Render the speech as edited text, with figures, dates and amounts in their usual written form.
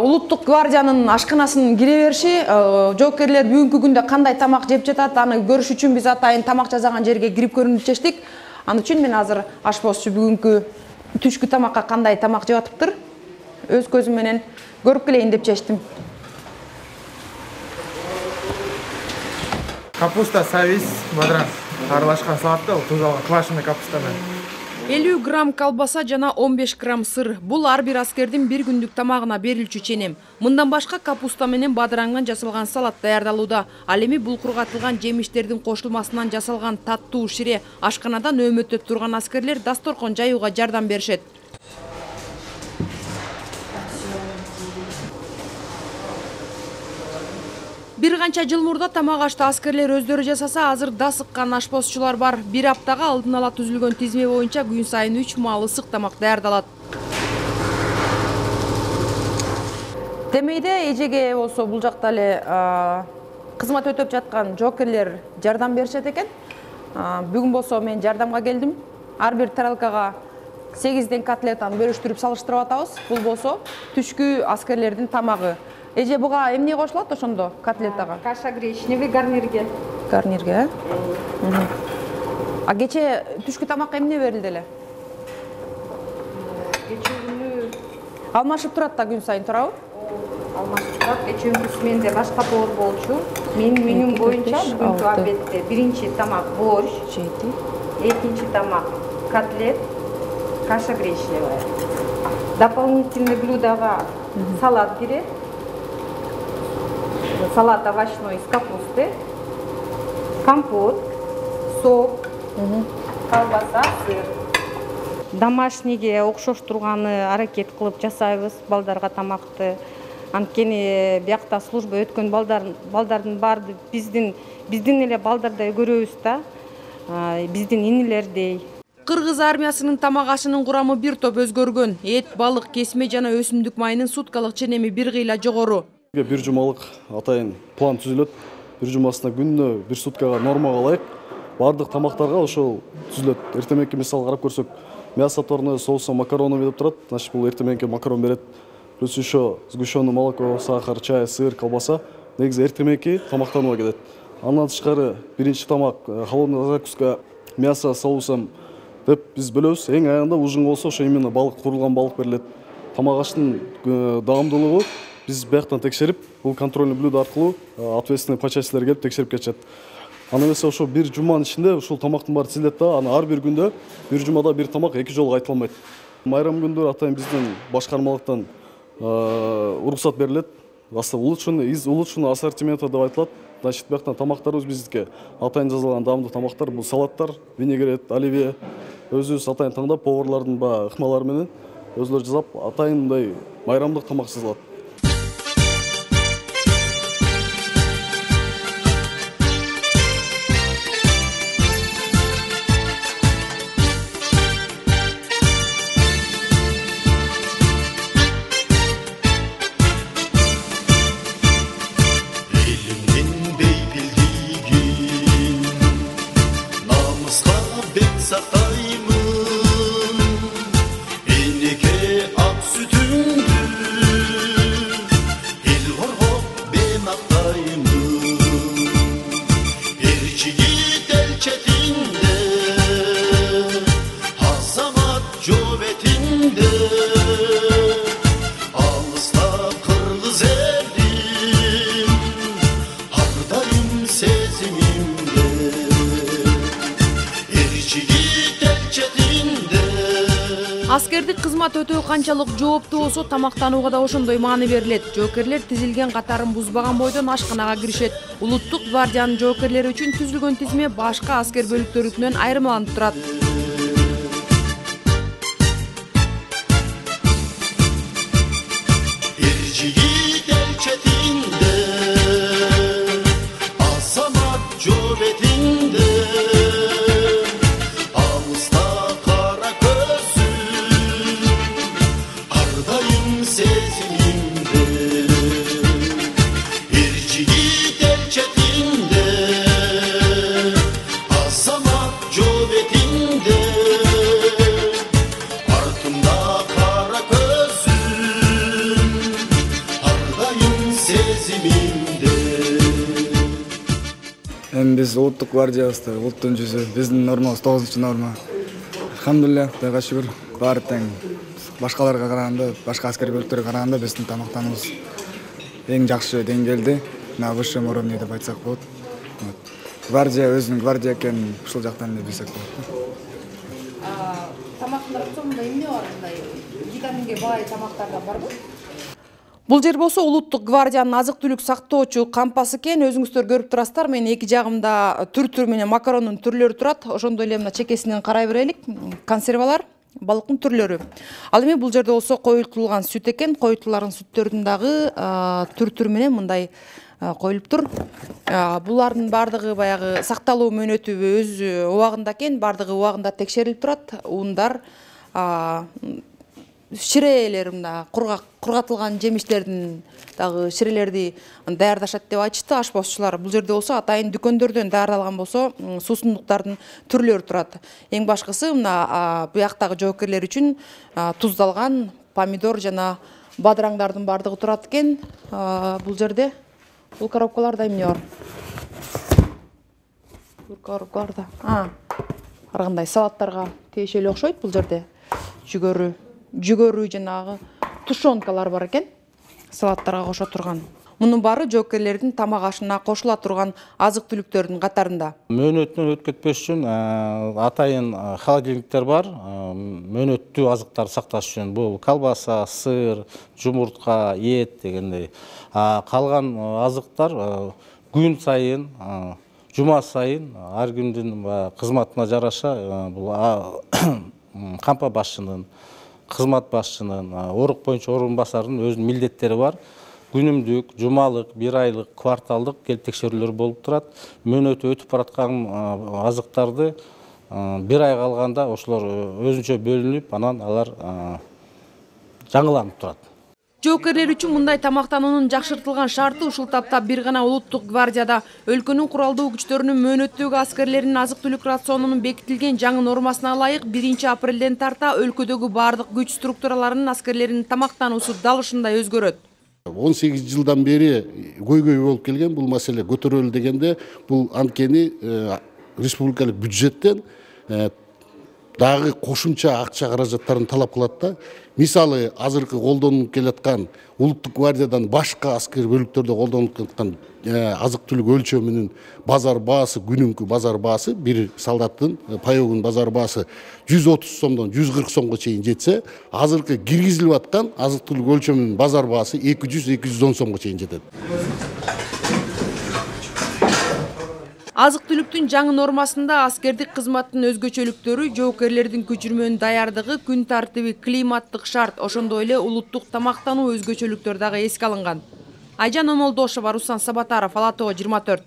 улуттук гвардиянын ашканасынын кире бериши, жоокерлер бүгүнкү күндө кандай тамак жеп жатат, аны көрүш үчүн биз атайын тамак жасаган жерге кирип көрүнүп чечтик. Ал үчүн мен азыр ашпозчу бүгүнкү түшкү тамакка кандай тамак жеп атыптыр, өз көзүм менен көрүп келейин деп чечтим. Капуста, савис, бадран аралашкан салатта, туз алган квашеный капуста менен. 50 грамм колбаса жана 15 грамм сыр. Бул ар бир аскердин бир күндүк тамагына берилчү ченем. Мындан башка капуста менен бадраңдан жасалган салат даярдалууда. Ал эми булкургатылган жемиштердин кошулмасынан жасалган таттуу шире ашканадан өмөттөп турган аскерлер дасторкон жаюуга жардам беришет. Бир канча жыл мурда тамак ашты аскерлер өздөрү жасаса, азыр да сыккан ашпозчулар бар. Бир аптага алдын ала түзүлгөн тизме боюнча күн сайын 3 маал ысык тамак даярдалат. Темейде эжеге болсо бул жакта эле кызмат өтөп жаткан жоокерлер жардам беришет экен. Бүгүн болсо мен жардамга келдим. Ар бир тарелкага 8 котлетаны бөлүштүрүп салыштырып атабыз. Бул болсо түшкү аскерлердин тамагы. Эже буга эмне кошулат ошондо котлетага? Каша гречневый гарнирге. Гарнирге. А кече түшкү тамакка эмне берилди эле? Кече күнү Алмашып турат да күн сайын туурабы? алмашып турат. Кечеүнкүсү менде башка повар болчу. Менин менюм боюнча бүгүнкү обедте биринчи тамак борщ, экинчи тамак котлет, каша гречневая. Дополнительный блюдога салат кирет. Салат овощной из капусты, компот, сок, колбаса, сыр. Домашнийге окшош турганы аракет кылып жасайбыз балдарга тамакты. Анткени биякта служба өткөн балдардын баары биздин эле балдардай көрөбүз да, биздин инилердей. Кыргыз армиясынын тамак ашынын курамы бир топ өзгөргөн. Эт, балык, кесме жана өсүмдүк майынын суткалык ченеми бир кыйла жогору. Бир жумалык атайын план түзүлөт. Бир жумасына күнүнө бир суткага нормага ылайык бардык тамактарга ошол түзүлөт. Эртеменки мисал карап көрсөк, мясо отварное, соуса, макароны деп турат. Значит, бул эртеменки макарон берет. Плюс еще сгущенное молоко, сахар, чай, сыр, колбаса. Негизи эртеменки тамактанууга кетет. Андан тышкары биринчи тамак холодная закуска, мясо соусом деп биз бөлөбүз. Эң аягында ужин болсо ошо именно балык, куурулган балык берилет. Тамак аштын даамдуулугу биз бияктан текшерип, бул контрольный блюдо аркылуу ответственный по частилер келип текшерип кетишет. Аны эмесе ошо бир жуманын ичинде ушул тамактын баары тизилет да, аны ар бир күндө бир жумада бир тамак эки жолу кайталанбайт. Майрам күндөрү атайын биздин башкармалыктан уруксат берилет. Из улучшенного ассортимента деп айтылат. Значит, бияктан тамактарыбыз биздики атайын жазылган даамдуу тамактар, бул салаттар, винегрет, оливье. Өзүбүз атайын таңдап поварлардын ыкмалары менен өзүлөр жасап атайын мындай майрамдык тамак жасалат. Аскердик кызмат өтөө канчалык жооптуу болсо, тамактанууга да ошондой маани берилет. Жоокерлер тизилген катарын бузбаган бойдон ашканага киришет. Улуттук гвардиянын жоокерлери үчүн түзүлгөн тизме башка аскер бөлүктөрүнөн айырмаланып турат. Asamat cöbetin Эми биз улуттук гвардиябызда улуттун жүзү, биздин нормабыз 9-норма. Алхамдулилля, Кудайга шүгүр. Баары тең. Башкаларга караганда, башка аскер бөлүктөргө караганда биздин тамактануубуз эң жакшы деңгээлде, на высшем уровне деп айтсак болот. Гвардия өзүнүн гвардия экенин ушул жактан эле билсек болот. Тамактын рационунда эмне бар, мындай витаминге бай тамактардан барбы? Бул жер болсо улуттук гвардиянын азык-түлүк сактоочу кампасы экен. Өзүңүздөр көрүп турасыздар. Мен эки жагымда түр-түр менен макарондун түрлөрү турат. Ошондой эле мына чекесинен карай берелик. Консервалар, балыктын түрлөрү. Ал эми бул жерде болсо коюлтулган сүт экен. Коюлтулган сүттөрдүн дагы түр-түр менен мындай коюлуптур. Булардын баардыгы баягы сакталуу мөөнөтү өз убагында экен. Баардыгы убагында текшерилип турат. Ундар, ширелер, мына кургатылган жемиштердин дагы ширелерди даярдашат деп айтышты ашпозчулар. Бул жерде болсо атайын дүкөндөрдөн даярдалган болсо суусундуктардын түрлөрү турат. Эң башкысы мына бuyактагы жоокерлер үчүн туздалган помидор жана бадыраңдардын баардыгы турат экен. Бул жерде бул коробкаларда эмне бар? Бул коробкаларда ар кандай салаттарга тиешелүү окшойт. Бул жерде жүгөрү жанагы тушенкалар бар экен, салаттарга кошо турган. Мунун баары жоокерлердин тамак ашына кошула турган азык-түлүктөрдүн катарында. Мөөнөтүнөн өткөтпөш үчүн атайын холодильниктер бар. Мөөнөттүү азыктарды сакташ үчүн бул колбаса, сыр, жумуртка, эт дегендей. Калган азыктар күн сайын, жума сайын ар кимдин кызматына жараша бул кампа башчынын, кызмат башчынын, орук боюнча орун басардын өзүнүн милдеттери бар. Күнүмдүк, жумалык, бир айлык, кварталдык келип текшерүүлөр болуп турат. Мөөнөтү өтүп бараткан азыктарды бир ай калганда ошолор өзүнчө бөлүнүп, анан алар жаңыланып турат. Жоокерлер үчүн мындай тамактануунун жакшыртылган шарты ушул тапта бир гана улуттук гвардияда өлкөнүн куралдуу күчтөрүнүн мөөнөттөгү аскерлеринин азык-түлүк рационунун бекитилген жаңы нормасына ылайык 1-апрелден тарта өлкөдөгү баардык күч структураларынын аскерлеринин тамактануусу дал ушундай өзгөрөт. 18 жылдан бери көйгөй болуп келген бул маселе көтөрүлдү дегенде бул анткени республикалык бюджеттен дагы кошумча акча каражаттарын талап кылат да. Мисалы азыркы колдонуп келаткан улуттук гвардиядан башка аскер бөлүктөрдө колдонуп келаткан азык-түлүк өлчөмүнүн базар баасы, күнүмкү базар баасы, бир солдаттын паёгунун базар баасы 130 сомдон 140 сомго чейин жетсе, азыркы киргизилип аткан азык-түлүк өлчөмүнүн базар баасы 200-210 сомго чейин жетет. Азык-түлүктүн жаңы нормасында аскердик кызматтын өзгөчөлүктөрү, жоокерлердин көчүрмөнүн даярдыгы, күн тартиби, климаттык шарт, ошондой эле улуттук тамактануу өзгөчөлүктөр дагы эске алынган. Айжан Омолдошова, Руслан Сабатаров, Ала Тоо 24.